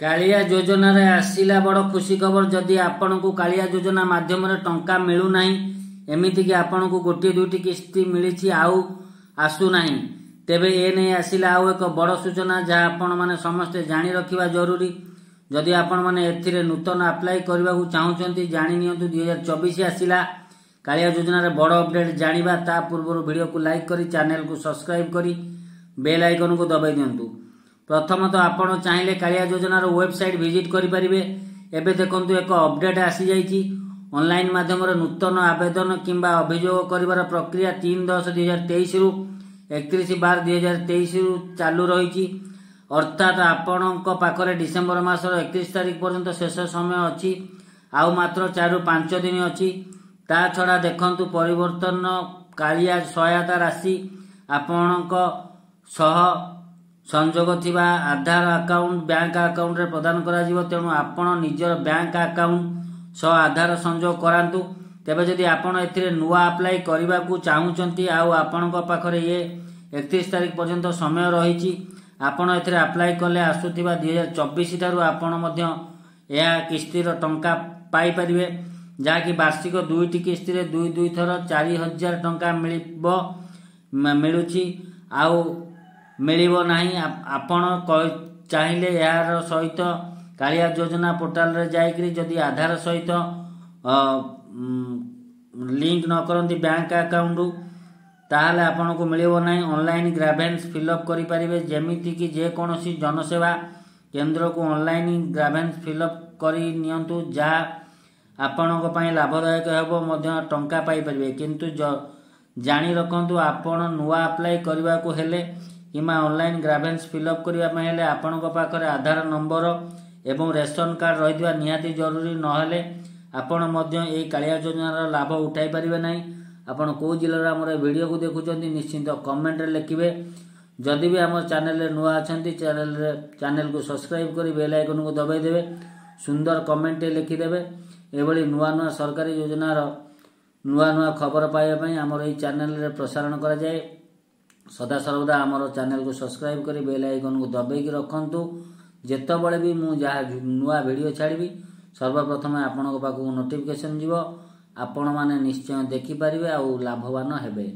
କାଳିଆ ଯୋଜନାରେ ଆସିଲା ବଡ଼ ଖୁସି ଖବର। ଯଦି ଆପଣଙ୍କୁ କାଳିଆ ଯୋଜନା ମାଧ୍ୟମରେ ଟଙ୍କା ମିଳୁନାହିଁ, ଏମିତିକି ଆପଣଙ୍କୁ ଗୋଟିଏ ଦୁଇଟି କିସ୍ତି ମିଳିଛି ଆଉ ଆସୁନାହିଁ, ତେବେ ଏ ନେଇ ଆସିଲା ଆଉ ଏକ ବଡ଼ ସୂଚନା, ଯାହା ଆପଣମାନେ ସମସ୍ତେ ଜାଣି ରଖିବା ଜରୁରୀ। ଯଦି ଆପଣମାନେ ଏଥିରେ ନୂତନ ଆପ୍ଲାଏ କରିବାକୁ ଚାହୁଁଛନ୍ତି, ଜାଣି ନିଅନ୍ତୁ 2024 ଆସିଲା କାଳିଆ ଯୋଜନାରେ ବଡ଼ ଅପଡେଟ୍ ଜାଣିବା। ତା ପୂର୍ବରୁ ଭିଡ଼ିଓକୁ ଲାଇକ୍ କରି, ଚ୍ୟାନେଲକୁ ସବସ୍କ୍ରାଇବ୍ କରି ବେଲ୍ ଆଇକନକୁ ଦବାଇ ଦିଅନ୍ତୁ। ପ୍ରଥମତଃ ଆପଣ ଚାହିଁଲେ କାଳିଆ ଯୋଜନାର ୱେବସାଇଟ୍ ଭିଜିଟ୍ କରିପାରିବେ। ଏବେ ଦେଖନ୍ତୁ, ଏକ ଅପଡେଟ୍ ଆସିଯାଇଛି। ଅନଲାଇନ୍ ମାଧ୍ୟମରେ ନୂତନ ଆବେଦନ କିମ୍ବା ଅଭିଯୋଗ କରିବାର ପ୍ରକ୍ରିୟା 3/10/2023ରୁ 31/12/2023ରୁ ଚାଲୁ ରହିଛି। ଅର୍ଥାତ୍ ଆପଣଙ୍କ ପାଖରେ ଡିସେମ୍ବର ମାସର 31 ତାରିଖ ପର୍ଯ୍ୟନ୍ତ ଶେଷ ସମୟ ଅଛି, ଆଉ ମାତ୍ର 4ରୁ 5 ଦିନ ଅଛି। ତା ଛଡ଼ା ଦେଖନ୍ତୁ, ପରିବର୍ତ୍ତନ କାଳିଆ ସହାୟତା ରାଶି ଆପଣଙ୍କ ସହ ସଂଯୋଗ ଥିବା ଆଧାର ଆକାଉଣ୍ଟ, ବ୍ୟାଙ୍କ ଆକାଉଣ୍ଟରେ ପ୍ରଦାନ କରାଯିବ। ତେଣୁ ଆପଣ ନିଜର ବ୍ୟାଙ୍କ ଆକାଉଣ୍ଟ ସହ ଆଧାର ସଂଯୋଗ କରାନ୍ତୁ। ତେବେ ଯଦି ଆପଣ ଏଥିରେ ନୂଆ ଆପ୍ଲାଏ କରିବାକୁ ଚାହୁଁଛନ୍ତି ଆଉ ଆପଣଙ୍କ ପାଖରେ ଇଏ 31 ତାରିଖ ପର୍ଯ୍ୟନ୍ତ ସମୟ ରହିଛି, ଆପଣ ଏଥିରେ ଆପ୍ଲାଏ କଲେ ଆସୁଥିବା 2024 ଠାରୁ ଆପଣ ମଧ୍ୟ ଏହା କିସ୍ତିର ଟଙ୍କା ପାଇପାରିବେ, ଯାହାକି ବାର୍ଷିକ ଦୁଇଟି କିସ୍ତିରେ ଦୁଇ ଦୁଇ ଥର 4000 ଟଙ୍କା ମିଳିବ। ମିଳୁଛି ଆଉ ମିଳିବ ନାହିଁ। ଆପଣ ଚାହିଁଲେ ଏହାର ସହିତ କାଳିଆ ଯୋଜନା ପୋର୍ଟାଲରେ ଯାଇକରି ଯଦି ଆଧାର ସହିତ ଲିଙ୍କ ନ କରନ୍ତି ବ୍ୟାଙ୍କ ଆକାଉଣ୍ଟରୁ, ତାହେଲେ ଆପଣଙ୍କୁ ମିଳିବ ନାହିଁ। ଅନଲାଇନ୍ ଗ୍ରାଭେନ୍ସ ଫିଲ୍ଅପ୍ କରିପାରିବେ, ଯେମିତିକି ଯେକୌଣସି ଜନସେବା କେନ୍ଦ୍ରକୁ ଅନଲାଇନ୍ ଗ୍ରାଭେନ୍ସ ଫିଲ୍ଅପ୍ କରି ନିଅନ୍ତୁ, ଯାହା ଆପଣଙ୍କ ପାଇଁ ଲାଭଦାୟକ ହେବ, ମଧ୍ୟ ଟଙ୍କା ପାଇପାରିବେ। କିନ୍ତୁ ଜାଣି ରଖନ୍ତୁ, ଆପଣ ନୂଆ ଆପ୍ଲାଏ କରିବାକୁ ହେଲେ କିମ୍ବା ଅନଲାଇନ୍ ଗ୍ରାଭେନ୍ସ ଫିଲ୍ଅପ୍ କରିବା ପାଇଁ ହେଲେ ଆପଣଙ୍କ ପାଖରେ ଆଧାର ନମ୍ବର ଏବଂ ରେସନ କାର୍ଡ଼ ରହିଥିବା ନିହାତି ଜରୁରୀ। ନହେଲେ ଆପଣ ମଧ୍ୟ ଏହି କାଳିଆ ଯୋଜନାର ଲାଭ ଉଠାଇ ପାରିବେ ନାହିଁ। ଆପଣ କେଉଁ ଜିଲ୍ଲାର ଆମର ଏ ଭିଡ଼ିଓକୁ ଦେଖୁଛନ୍ତି, ନିଶ୍ଚିନ୍ତ କମେଣ୍ଟରେ ଲେଖିବେ। ଯଦି ବି ଆମ ଚ୍ୟାନେଲରେ ନୂଆ ଅଛନ୍ତି, ଚ୍ୟାନେଲକୁ ସବସ୍କ୍ରାଇବ୍ କରି ବେଲ୍ ଆଇକନକୁ ଦବାଇ ଦେବେ, ସୁନ୍ଦର କମେଣ୍ଟଟେ ଲେଖିଦେବେ। ଏଭଳି ନୂଆ ନୂଆ ସରକାରୀ ଯୋଜନାର ନୂଆ ନୂଆ ଖବର ପାଇବା ପାଇଁ ଆମର ଏହି ଚ୍ୟାନେଲରେ ପ୍ରସାରଣ କରାଯାଏ। ସଦାସର୍ବଦା ଆମର ଚ୍ୟାନେଲକୁ ସବସ୍କ୍ରାଇବ୍ କରି ବେଲ୍ ଆଇକନକୁ ଦବାଇକି ରଖନ୍ତୁ। ଯେତେବେଳେ ବି ମୁଁ ଯାହା ନୂଆ ଭିଡ଼ିଓ ଛାଡ଼ିବି, ସର୍ବପ୍ରଥମେ ଆପଣଙ୍କ ପାଖକୁ ନୋଟିଫିକେସନ୍ ଯିବ। ଆପଣମାନେ ନିଶ୍ଚୟ ଦେଖିପାରିବେ ଆଉ ଲାଭବାନ ହେବେ।